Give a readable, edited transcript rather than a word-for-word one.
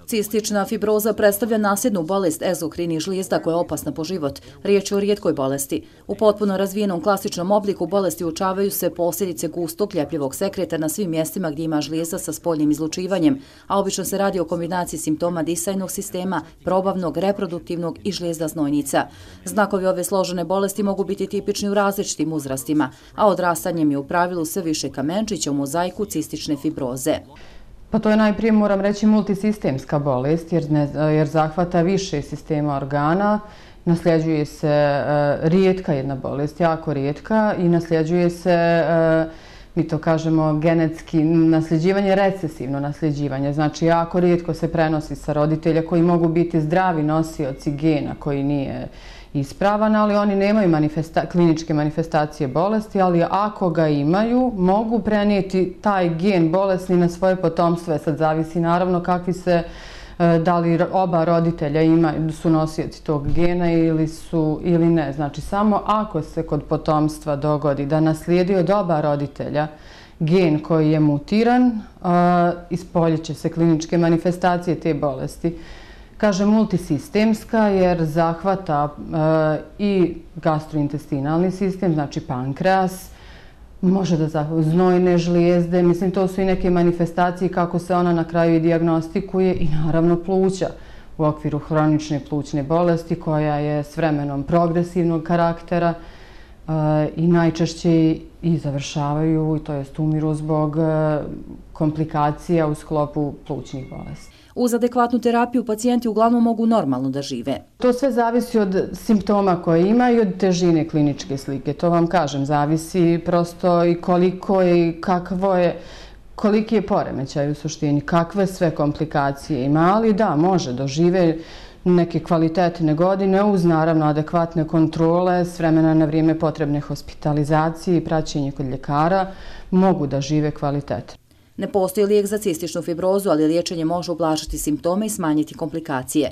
Cistična fibroza predstavlja nasljednu bolest egzokrinih žlijezda koja je opasna po život. Riječ je o rijetkoj bolesti. U potpuno razvijenom klasičnom obliku bolesti uočavaju se posljedice gustog ljepljivog sekreta na svim mjestima gdje ima žlijezda sa spoljnim izlučivanjem, a obično se radi o kombinaciji simptoma disajnog sistema, probavnog, reproduktivnog i žlijezda znojnica. Znakovi ove složene bolesti mogu biti tipični u različitim uzrastima, a odrastanjem je u pravilu sve više kamenčića u mozaiku cistične fibroze. Pa to je najprije, moram reći, multisistemska bolest jer zahvata više sistema organa, nasljeđuje se rijetka jedna bolest, jako rijetka i nasljeđuje se, mi to kažemo genetski, nasljeđivanje, recesivno nasljeđivanje. Znači, jako rijetko se prenosi sa roditelja koji mogu biti zdravi nosioci gena koji nije ispravan, ali oni nemaju kliničke manifestacije bolesti, ali ako ga imaju, mogu prenijeti taj gen bolesni na svoje potomstvo. Sad zavisi naravno kakvi se, da li oba roditelja su nosioci tog gena ili ne. Znači, samo ako se kod potomstva dogodi da naslijedi od oba roditelja gen koji je mutiran, ispoljit će se kliničke manifestacije te bolesti. Kažem multisistemska jer zahvata i gastrointestinalni sistem, znači pankreas, može da zahvata znojne žlijezde, mislim to su i neke manifestacije kako se ona na kraju i dijagnostikuje i naravno pluća u okviru hronične plućne bolesti koja je s vremenom progresivnog karaktera i najčešće i završavaju, to jest umiru zbog komplikacija u sklopu plućnih bolesti. Uz adekvatnu terapiju pacijenti uglavnom mogu normalno da žive. To sve zavisi od simptoma koje imaju i od težine kliničke slike. To vam kažem, zavisi prosto i koliko i koliki je poremećaj u suštini, kakve sve komplikacije ima, ali da, može dožive neke kvalitetne godine uz naravno adekvatne kontrole, s vremena na vrijeme potrebne hospitalizacije i praćenje kod ljekara, mogu da žive kvalitetno. Ne postoji lijek za cističnu fibrozu, ali liječenje može ublažiti simptome i smanjiti komplikacije.